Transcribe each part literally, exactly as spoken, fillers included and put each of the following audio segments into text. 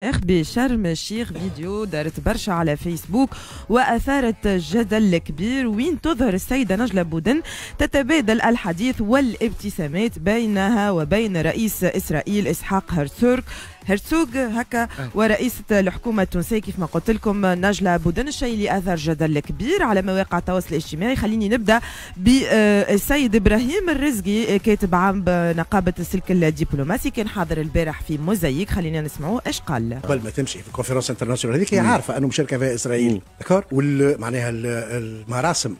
بشرم الشيخ، فيديو دارت برشا على فيسبوك وأثارت جدل كبير، وين تظهر السيدة نجلة بودن تتبادل الحديث والابتسامات بينها وبين رئيس إسرائيل إسحاق هرتسوغ هرتسوغ هكا ورئيسة الحكومة التونسية كيف ما قلت لكم نجلة بودن، الشيء اللي أثار جدل كبير على مواقع التواصل الاجتماعي. خليني نبدأ بالسيد إبراهيم الرزقي، كاتب عام نقابة السلك الدبلوماسي، كان حاضر البارح في موزايك، خلينا نسمعوه ايش قال. قبل ما تمشي في ال conférence internationale هذيك هي عارفه انه مشاركة فيها اسرائيل، d'accord، معناها المراسم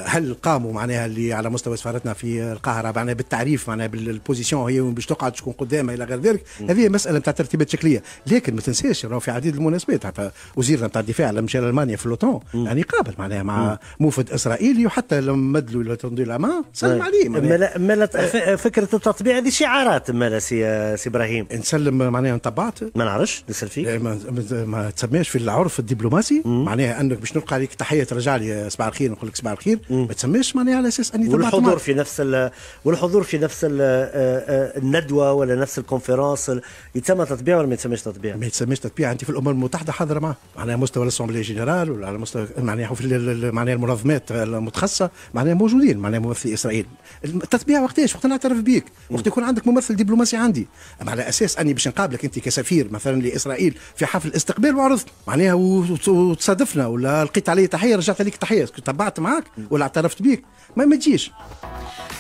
هل قاموا معناها اللي على مستوى سفارتنا في القاهرة معناها بالتعريف معناها بال position هي باش تقعد تكون قدامها الى غير ذلك. هذه مسالة نتاع ترتيبات شكليه، لكن ما تنساش راهو في عديد المناسبات حتى وزيرنا نتاع الدفاع لما مشى لالمانيا في l'OTAN يعني قابل معناها مع موفد اسرائيلي، وحتى لما مدلوا tendu la main سلم عليه. مالا مالا فكرة التطبيع هذه شعارات مالا سي سي ابراهيم. نسلم معناها طبعت ما نعرفش نسال فيك. ما, ما تسميش في العرف الدبلوماسي معناها انك باش نلقى عليك تحية ترجع لي صباح الخير نقول لك صباح الخير، ما تسميش معناها على اساس اني والحضور في نفس والحضور في نفس الندوة ولا نفس ال conférence يتسمى تطبيع ولا ما يتسمىش تطبيع؟ ما يتسمىش تطبيع. انت في الامم المتحدة حاضره معه معناها مستوى l'assemblée générale ولا على مستوى معناها في معناها المنظمات المتخصصة معناها موجودين معناها ممثلي اسرائيل. التطبيع وقتاش؟ وقت نعترف بيك، وقت يكون عندك ممثل دبلوماسي عندي، اما على اساس اني باش نقابلك انت كسفير مثلا لاسرائيل في حفل استقبال وعرضت معناها وتصادفنا ولا لقيت علي تحية رجعت عليك تحية تبعت معاك ولا اعترفت بيك ما ما تجيش.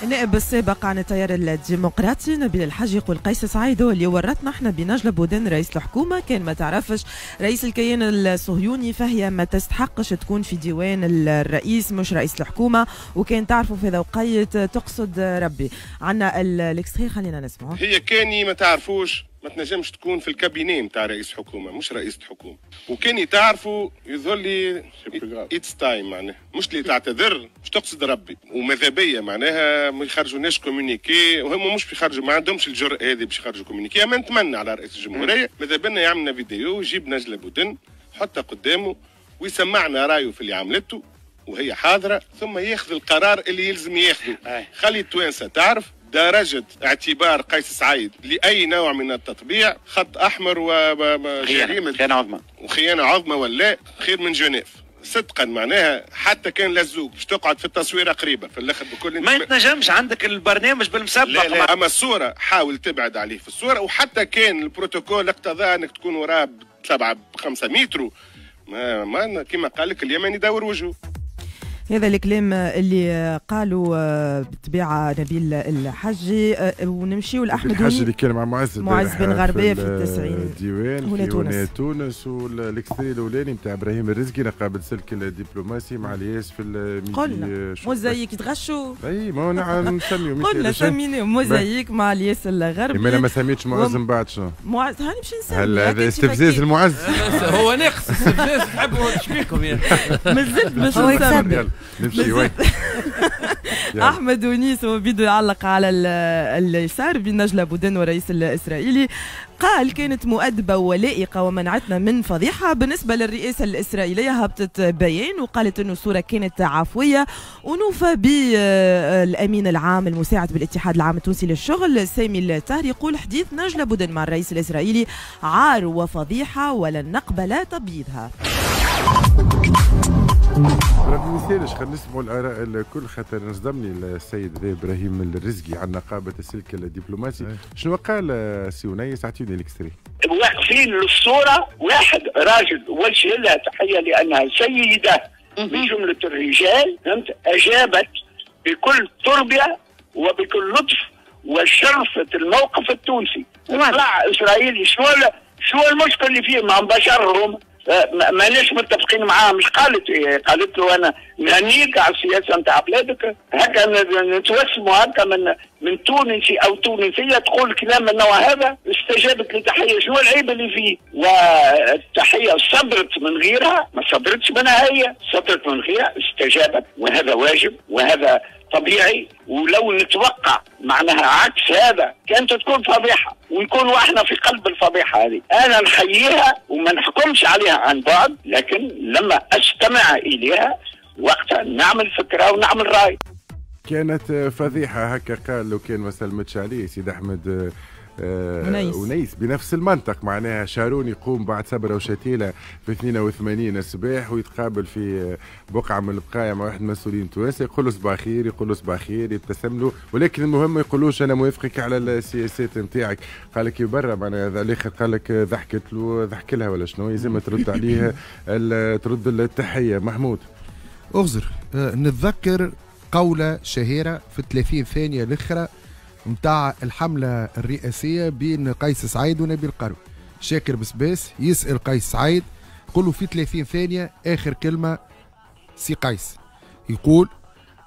النائب السابق عن التيار الديمقراطي نبيل الحاج يقول قيس سعيد هو اللي ورطنا احنا بنجلة بودن رئيس الحكومة، كان ما تعرفش رئيس الكيان الصهيوني فهي ما تستحقش تكون في ديوان الرئيس مش رئيس الحكومة، وكان تعرفوا في ذوقية تقصد ربي. عندنا ال extrait خلينا نسمعه. هي كاني ما تعرفوش ما تنجمش تكون في ال cabinet نتاع رئيس حكومة مش رئيسه حكومة، وكان تعرفوا يظهر لي it's time معناها مش اللي تعتذر مش تقصد ربي، وماذا بيا معناها ما يخرجوناش communiqué، وهم مش بيخرجوا ما عندهمش الجرأة هذه باش يخرجوا communiqué، اما نتمنى على رئيس الجمهورية ماذا بينا يعملنا فيديو يجيب نجلة بودن حطها قدامه ويسمعنا رايه في اللي عملته وهي حاضره، ثم ياخذ القرار اللي يلزم ياخذه. خلي التوانسة تعرف درجة اعتبار قيس سعيد لأي نوع من التطبيع خط أحمر وجريمة خيانة عظمى وخيانة عظمى ولا خير من جنيف صدقا معناها، حتى كان لزوق باش تقعد في التصويره قريبه في الاخر بكل ما يتنجمش عندك البرنامج بالمسبق. لا لا، اما الصورة حاول تبعد عليه في الصورة، وحتى كان البروتوكول اقتضى انك تكون وراه بسبعة بخمسة متر ما, ما كما قال لك اليمن يدور وجهه. هذا الكلام اللي قالوا بالطبيعة نبيل الحجي. ونمشيو لاحمد الحجي اللي كان مع معز معز بن غربية في التسعين الديوان في تونس تونس وال extrait الاولاني نتاع ابراهيم الرزقي نقابة السلك الدبلوماسي مع الياس في الميدي. قلنا موزايك يتغشوا. اي ما هو نسميو قلنا سميناه موزايك مع الياس الغربي. ما ما سميتش معز من بعد شنو؟ معز هاني باش نسمي. هل هذا استفزاز المعز؟ هو ناقص استفزاز تحبوا شبيكم يا مازلت باش نسمي. نمشي وين. احمد ونيس هو بيدو يعلق على اليسار بين نجلة بودن ورئيس الاسرائيلي، قال كانت مؤدبة ولائقة ومنعتنا من فضيحة. بالنسبة للرئاسة الإسرائيلية هبطت بيان وقالت أنه الصورة كانت عفوية، ونوفى بالأمين العام المساعد بالاتحاد العام التونسي للشغل سامي الطاهر يقول حديث نجلة بودن مع الرئيس الإسرائيلي عار وفضيحة ولن نقبل تبييضها. ربي مثالش خلينا نسمعوا الاراء الكل خاطر نصدمني السيد ذا ابراهيم الرزقي عن نقابة السلك الدبلوماسي. شنو قال سي ونيس؟ اعطيني ال extrait. واقفين للصورة واحد راجل وجه لها تحية لانها سيده من جملة الرجال، فهمت، اجابت بكل تربيه وبكل لطف وشرفت الموقف التونسي. طلع اسرائيلي شنو شنو المشكل اللي فيه مع بشرهم؟ ماناش متفقين معاه. مش قالت إيه؟ قالت له انا نهنيك على السياسة نتاع بلادك، هكا نتوسموا هكا من من تونسي او تونسية تقول كلام من النوع هذا. استجابت لتحيه، شنو العيب اللي فيه؟ والتحيه صدرت من غيرها، ما صدرتش منها هي، صدرت من غيرها، استجابت، وهذا واجب وهذا طبيعي. ولو نتوقع معناها عكس هذا كانت تكون فضيحة، ونكون احنا في قلب الفضيحة هذه. انا نحييها وما نحكمش عليها عن بعد، لكن لما استمع اليها وقتها نعمل فكرة ونعمل راي. كانت فضيحة هكا قال لو كان ما سلمتش عليه سيد احمد آه ونيس بنفس المنطق. معناها شارون يقوم بعد سبرة وشتيلة في اثنين وثمانين الصباح ويتقابل في بقعة من البقايا مع واحد من المسؤولين التوانسة، يقول له صباح خير، يقول له صباح خير، يبتسم له، ولكن المهم ما يقولوش أنا موافقك على السياسات نتاعك. قال لك برا معناها هذا الآخر قال لك ضحكت له، ضحك لها ولا شنو، لازم ترد عليها ترد التحية. محمود اغزر نتذكر قولة شهيرة في ثلاثين ثانية الأخرى متاع الحملة الرئاسية بين قيس سعيد ونبيل قروي. شاكر بسباس يسأل قيس سعيد يقول له في ثلاثين ثانية آخر كلمة سي قيس، يقول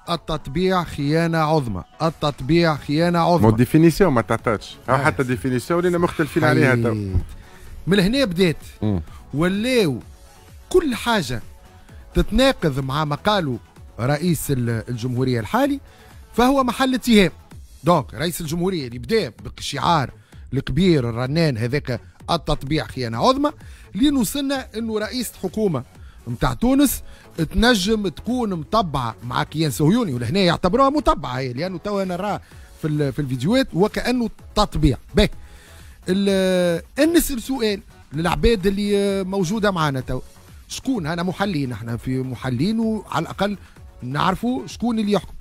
التطبيع خيانة عظمى، التطبيع خيانة عظمى. ما définition ما تعطاتش، حتى définition ولينا مختلفين عليها تو. من هنا بدات ولاو كل حاجة تتناقض مع ما قالوا رئيس الجمهورية الحالي فهو محل اتهام. donc رئيس الجمهورية اللي بدا بالشعار الكبير الرنان هذاك التطبيع خيانة عظمى، لين وصلنا انه رئيس حكومة نتاع تونس تنجم تكون مطبعة مع كيان صهيوني، ولهنا يعتبروها مطبعة هي، لأنه توا أنا نراه في في الفيديوهات وكأنه تطبيع. باهي نسأل سؤال للعباد اللي موجودة معنا تو، شكون انا محللين، احنا في محللين وعلى الأقل نعرفوا شكون اللي يحكم،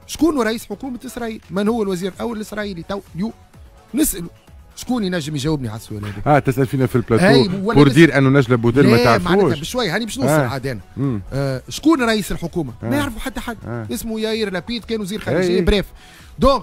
شكون رئيس حكومة إسرائيل، من هو الوزير الأول الإسرائيلي تو اليوم؟ نسأله شكون ينجم يجاوبني على السؤال هذا؟ اه تسأل فينا في ال plateau pour dire انه نجلة بودن ما تعرفوش. معناتها بشوي هاني باش نوصل آه. عاد انا آه شكون رئيس الحكومة؟ آه. ما يعرفوا حتى حد. آه. اسمه ياير لابيد، كان وزير خارجية bref. donc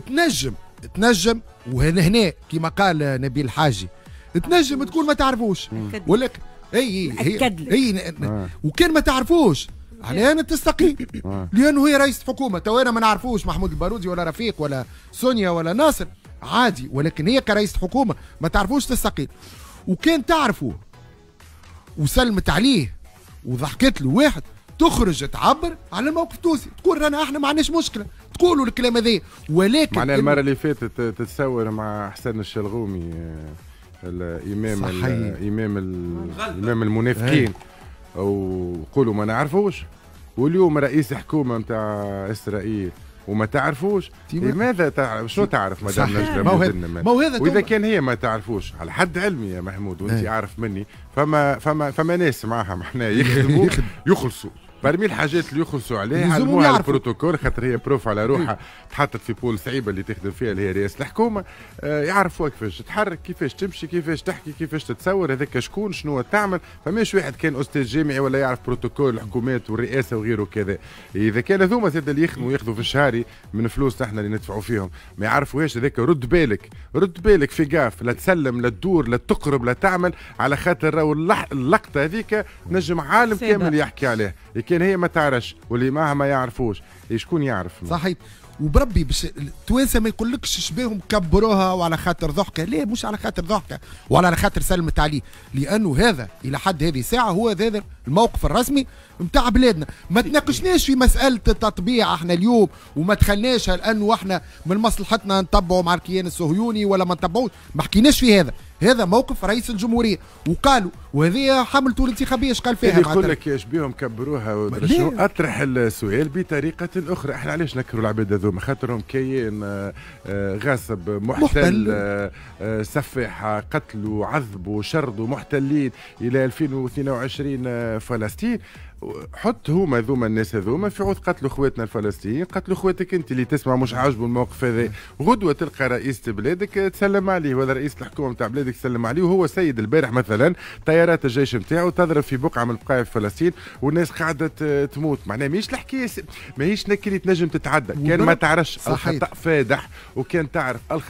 تنجم تنجم وهنا هنا كما قال نبيل الحاجي تنجم تكون ما تعرفوش، ولكن اي اي اي آه. وكان ما تعرفوش على انا تستقيل آه. لانه هي رئيسة حكومة. تو انا ما نعرفوش محمود البارودي ولا رفيق ولا سونيا ولا ناصر عادي، ولكن هي كرئيسة حكومة ما تعرفوش تستقيل. وكان تعرفوه وسلمت عليه وضحكت له واحد، تخرج تعبر على الموقف التونسي، تقول رانا احنا ما عندناش مشكلة، تقولوا الكلام هذا. ولكن معناها المرة اللي فاتت تتصور مع حسن الشلغومي الامام الامام الامام المنافقين وقولوا ما نعرفوش، واليوم رئيس حكومة نتاع اسرائيل وما تعرفوش. لماذا تعرف؟ شنو تعرف مدام نجلة بودن؟ واذا كان هي ما تعرفوش على حد علمي يا محمود وانت عارف مني، فما فما فما ناس معاها معناها يخدموا يخلصوا parmi الحاجات اللي يخلصوا عليها علموها البروتوكول، خاطر هي prof على روحها تحطت في pôle صعيبة اللي تخدم فيها اللي هي رئاسة الحكومة. آه يعرفوها كيفاش تتحرك، كيفاش تمشي، كيفاش تحكي، كيفاش تتصور، هذاك شكون شنو تعمل. فماش واحد كان استاذ جامعي ولا يعرف بروتوكول الحكومات والرئاسه وغيره كذا. اذا كان هذوما زاد اللي يخدموا ياخذوا في الشهري من فلوس احنا اللي ندفعوا فيهم ما يعرفوهاش، هذاك رد بالك رد بالك fais gaffe، لا تسلم لا تدور لا تقرب لا تعمل، على خاطر راهو اللقطة هذيك نجم عالم كامل يحكي عليها. كان هي ما تعرفش واللي معها ما يعرفوش، شكون يعرف؟ صحيح. وبربي باش التوانسة ما يقولكش شبيهم كبروها وعلى خاطر ضحكه، لا مش على خاطر ضحكه ولا على خاطر سلمت عليه، لانه هذا الى حد هذه الساعة هو هذا الموقف الرسمي نتاع بلادنا. ما تناقشناش في مسالة التطبيع احنا اليوم وما دخلناش لانه احنا من مصلحتنا نطبعوا مع الكيان الصهيوني ولا ما نطبعوش، ما حكيناش في هذا. هذا موقف رئيس الجمهورية وقالوا، وهذه حملته الانتخابية اش قال فيها؟ يقول لك ايش بيهم كبروها شنو؟ اطرح السؤال بطريقة اخرى، احنا علاش نكروا العباد هذوما؟ خاطرهم كيان غاصب محتل, محتل. سفاح، قتلوا عذبوا شردوا محتلين الى ألفين واثنين وعشرين فلسطين. حط هما ذوما الناس هذوما في عوض قتلوا خواتنا الفلسطينيين، قتلوا خواتك انت اللي تسمع مش عاجبه الموقف هذا. غدوه تلقى رئيسة بلادك تسلم عليه ولا رئيس الحكومة نتاع بلادك تسلم عليه، وهو سيد البارح مثلا طيارات الجيش نتاعو تضرب في بقعة من بقايا فلسطين والناس قاعدة تموت. معناها ماهيش الحكاية، ماهيش نكري تنجم تتعدى كان ما تعرفش الخطا فادح، وكان تعرف الخطأ